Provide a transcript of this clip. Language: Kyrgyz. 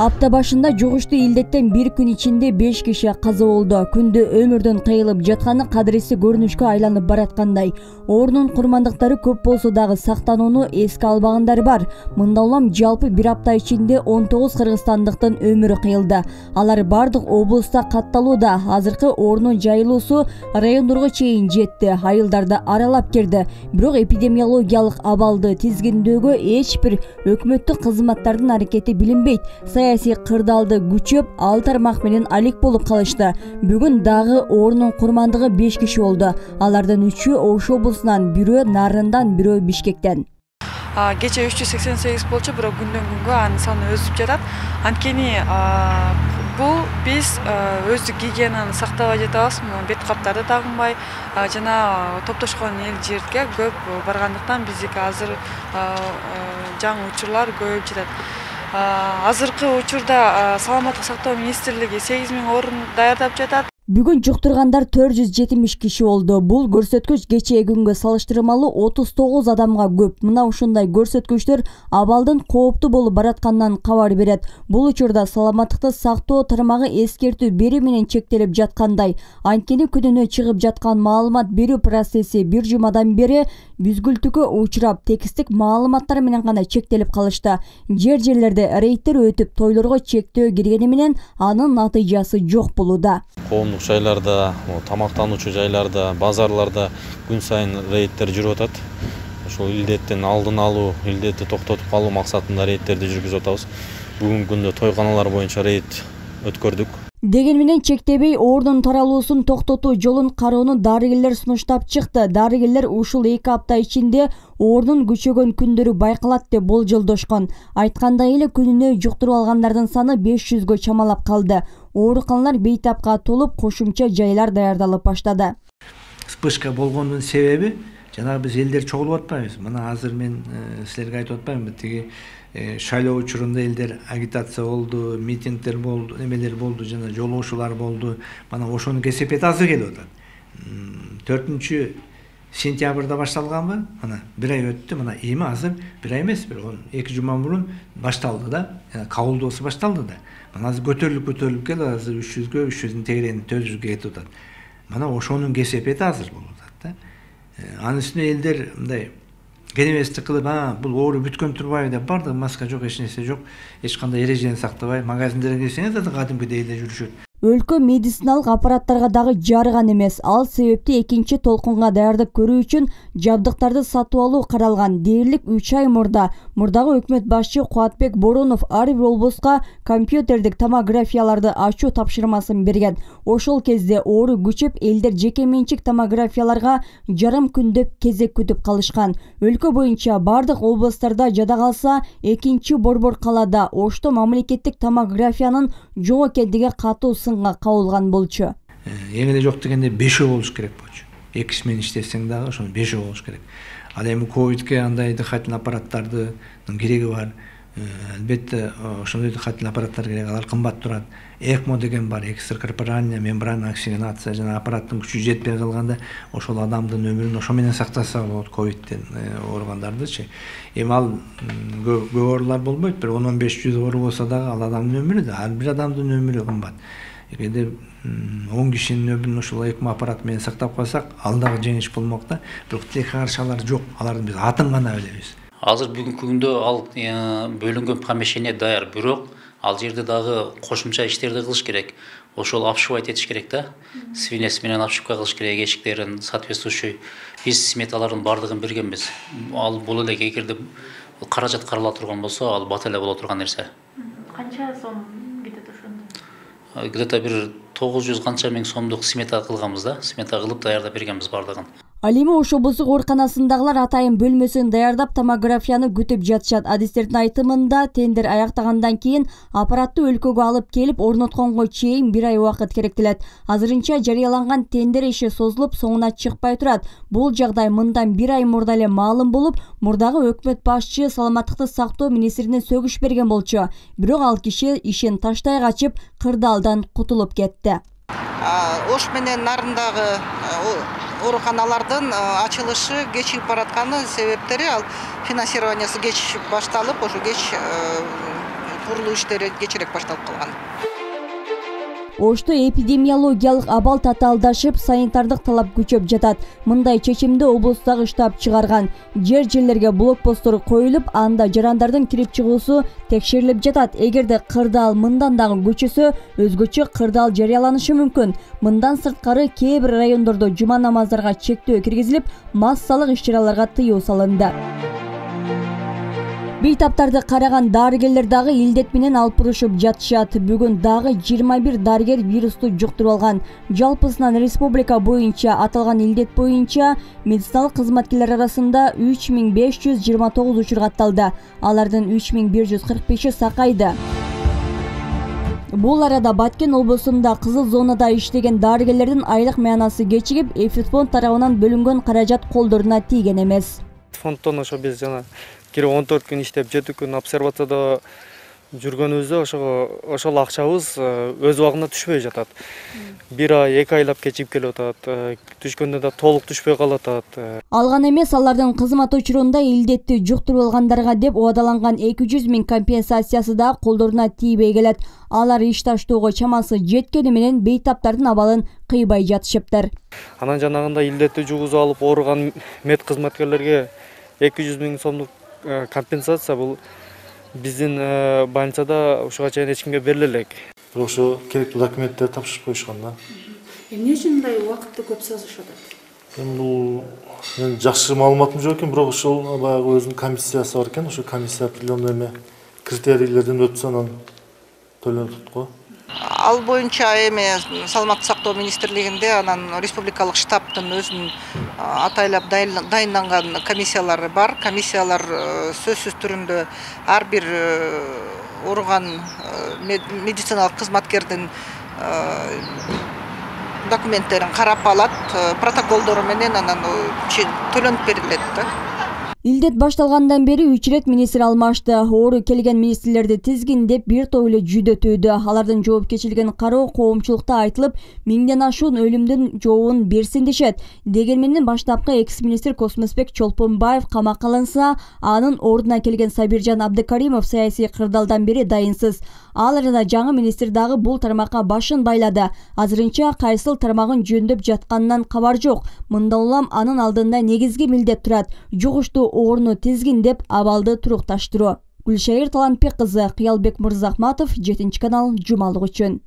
Апта башында жугуштуу илдеттен бир күн ичинде 5 киши каза болду. Күндө өмүрдөн кыйылып жатканы кадыресиз көрүнүшкө айланып бараткандай. Оорунун курмандыктары көп болсо дагы сактанууну эске албагандар бар. Мында улам жалпы бир апта ичинде 19 кыргызстандыктын өмүрү кыйылды. Алар бардык облуста катталууда. Азыркы оорунун жайылуусу райондорго чейин жетти. Айылдарды аралап кирди. Бирок эпидемиологиялык абалды тизгиндөөгө эч бир өкмөттүк кызматтардын аракети билинбейт. Саясий кырдаалды күчөп, ал тармак менен алек болуп калышты. Бүгүн дагы оорунун курмандыгы 5 киши болду. Алардын 3-ü Ош облусунан, бирөө Нарындан, бирөө Бишкектен. Кече 388 болчу, бирок күндөн күнгө анын саны өсүп жатат. Анткени бул биз өздүк гигиенаны сактабай жатабыз. Бет каптарды тагынбай, жана топтошкон эл жерге көп баргандыктан биздики азыр жаңы учурлар көбөйүп жатат. Азыркы учурда саламаттык сактоо министрлиги 8000 орун даярдап жатат. Бүгүн жуктургандар 470 киши болду. Бул көрсөткүч кечээ күнгө салыштырмалуу 39 адамга көп. Мына ушундай көрсөткүчтөр абалдын кооптуу болуп баратканынан кабар берет. Бул учурда саламаттыкты сактоо тармагы эскертүү берүү менен чектелип жаткандай. Анткени күнүнө чыгып жаткан маалымат берүү процесси бир жумадан бери бүзгүлтүккө учурап, текстик маалыматтар менен гана чектелип калышты. Жерлерде рейдтер өтүп, тойлорго чектөө киргени менен анын натыйжасы жок болууда. Коомдук жайларда, тамактануучу жайларда, базарларда күн сайын рейдтер жүрүп атат. Ошол илдеттин алдын алуу, илдетти токтотуп калуу максатында рейдтерди жүргүзүп атабыз. Бүгүнкү күндө тойканалар боюнча рейд өткөрдүк. Деген менен чектебей оорунун таралуусун токтотуу жолун кароону дарыгерлер сунуштап чыкты. Дарыгерлер ушул 2 апта ичинде оорунун күчөгөн күндөрү байкалат деп болжолдошкон. Айткандай эле күнүнө жуктуруп алгандардын саны 500гө чамалап калды. Ооруканалар бейтапка толуп, кошумча жайлар даярдалып баштады. Вспышка болгондун себеби жанагы биз элдер чогулуп атпайбыз. Мына азыр мен силерге айтып атпаймынбы, тиги шайлоо учурунда элдер агитация болду, митингдер болду, эмелер болду, жана жолугушуулар болду. Мана ошонун кесепети азыр келип атат. 4-сентябрда башталганбы? Мына бир ай өттү. Мына эми азыр бир ай эмес, бир 2 жума мурун башталды да. Кабылдоосу башталды да. Мына азыр көтөрүлүп келип, азыр 300гө, 300дүн тегерени 400гө кетип атат. Мана ошонун кесепети азыр болуп атат да. Анын үстүнө элдер мындай кенебестик кылып, бул оору бүткөн турбайбы деп бардыгы маска жок, эч нерсе жок, эч кандай эрежени сактабай магазиндерге кирсеңиз да кадимкидей эле жүрүшөт. Өлкө медициналык аппараттарга дагы жарыган эмес. Ал себепти экинчи толкунга даярдык көрүү үчүн жабдыктарды сатып алуу каралган. Дээрлик 3 ай мурдагы өкмөт башчы Кубатбек Боронов ар бир облуска компьютердик томографияларды ачуу тапшырмасын берген. Ошол кезде оору күчөп, элдер жеке менчик томографияларга жарым күндөп кезек күтүп калышкан. Өлкө боюнча бардык облустарда жада калса, экинчи борбор калаада Ошто мамлекеттик томографиянын жок экендиги катуу кабылган болчу. Эң эле жок дегенде 5 болуш керек болчу. 2 киши менен иштесең дагы ошону 5 болуш керек. Ал эми ковидке андай дыхательный аппараттардын кереги бар. Албетте ошондой дыхательный аппараттар керек, алар кымбат турат. ЭКМО деген бар, экстракорпоральная мембранная оксигенация, жана аппараттын күчү жетпей калганда ошол адамдын өмүрүн ошо менен сактаса болот, ковидтен ооругандардычы. Эми ал көп оорулар болбойт, бир 10-15 оору болсо дагы ал адамдын өмүрү да, ар бир адамдын өмүрү кымбат. Эгерде 10 кишинин өмүрүн ошол ЭКМО аппараты менен сактап калсак, ал дагы жеңиш болмок да. Бирок тилек каршалар жок, алардын биз атын гана билебиз. Азыр бүгүнкү күндө ал бөлүнгөн помещение даяр, бирок ал жерде дагы кошумча иштерди кылыш керек. Ошол обшивать этиш керек да. Свинец менен обшивка кылыш керек, эшиктерин соответствующий. Биз сметалардын бардыгын бергенбиз. Ал бул эле эгерде каражат карала турган болсо, ал бат эле боло турган нерсе. Канча сом кетет ошондо? Где-то бир 900 канча миң сомдук смета кылганбыз да. Смета кылып даярдап бергенбиз бардыгын. Ал эми Ош облустук ооруканасындагылар атайын бөлмөсүн даярдап томографияны күтүп жатышат. Адистердин айтымында тендер аяктагандан кийин аппаратты өлкөгө алып келип орнотконго чейин 1 ай убакыт керектелет. Азырынча жарыяланган тендер иши созулуп, соңуна чыкпай турат. Бул жагдай мындан 1 ай мурда эле маалым болуп, мурдагы өкмөт башчы саламаттыкты сактоо министрине сөгүш берген болчу. Бирок ал киши ишин таштай качып, кырдаалдан кутулуп кетти. Ош менен Нарындагы ооруканалардын ачылышы кечигип баратканы себептери ал финансированиясы кеч башталып, ошо кеч курулуу иштери кечирээк башталып калган. Ошто эпидемиологиялык абал татаалдашып, санитардык талап күчөп жатат. Мындай чечимди облустагы штаб чыгарган. Жерлерге блокпосттор коюлуп, анда жарандардын кирип чыгуусу текшерилип жатат. Эгерде кырдаал мындан дагы күчөсө, өзгөчө кырдаал жарыяланышы мүмкүн. Мындан сырткары кээ бир райондордо жума намаздарга чектөө киргизилип, массалык иш-чараларга тыюу салынды. Бейтаптарды караган дарыгерлер дагы илдет менен алпурушуп жатышат. Бүгүн дагы 21 дарыгер вирусту жуктуруп алган. Жалпысынан республика боюнча аталган илдет боюнча медициналык кызматкерлер арасында 3529 учур катталды. Алардын 3145-и сакайды. Бул арада Баткен облусунда кызыл зонада иштеген дарыгерлердин айлык маянасы кечигип, Эфитфонд тарабынан бөлүнгөн каражат колдоруна тийген эмес. Фонддон ошо биз жана 14 күн иштеп 7 күн обсервацияда жүргөнүбүздө ошол акчабыз өз убагында түшпөй жатат. 1 ай, 2 айлап кечигип келип атат. Түшкөндө да толук түшпөй калатат. Алган эмес, алардын кызмат учурунда илдетти жуктуруп алгандарга деп убадаланган 200 000 компенсациясы да колдоруна тийбей келет. Алар иш таштоого чамасы жеткени менен бейтаптардын абалын кыйбай жатышыптыр. Анан жанагында илдетти жугузуп алып ооруган мед кызматкерлерге 200 000 сомдук компенсация бул биздин больницада ушуга чейин эч кимге бериле элек. Бирок ошо керектүү документтерди тапшырып коюшкан да. Эмне үчүн мындай убакытты көп созушуп атат? Бул жакшы маалыматым жок экен, бирок ошол баягы өзүнүн комиссиясы бар экен, ошо комиссия определенный эме критерийлерден өтсө анан төлөнөт го. Ал боюнча эми Саламаттык сактоо министрлигинде анан республикалык штабтын өзүнүн атайлап дайынданган комиссиялары бар. Комиссиялар сөзсүз түрүндө ар бир ооруган медициналык кызматкердин документтерин карап алат, протоколдору менен анан төлөнүп берилет да. Илдет башталгандан бери 3 ирет министр алмашты. Оору келген министрлерди тизгиндеп бир топ эле жүдөтүүдө. Алардын жоопкерчилигин кароо коомчулукта айтылып, 1000ден ашуун өлүмдүн жообун берсин дешет. Дегенменен баштапкы экс-министр Космосбек Чолпонбаев камакка алынса, анын ордуна келген Сабиржан Абдыкаримов саясий кырдаалдан бери дайынсыз. Ал арада жаңы министр дагы бул тармакка башын байлады. Азырынча кайсыл тармагын жөндөп жатканынан кабар жок. Мындан улам анын алдында негизги милдет турат. Жугуштуу орну тизгиндеп абалды турукташтыруу. Гүлшайыр Талантбек кызы, Кыялбек Мырзахматов, 7 канал, жумалык үчүн.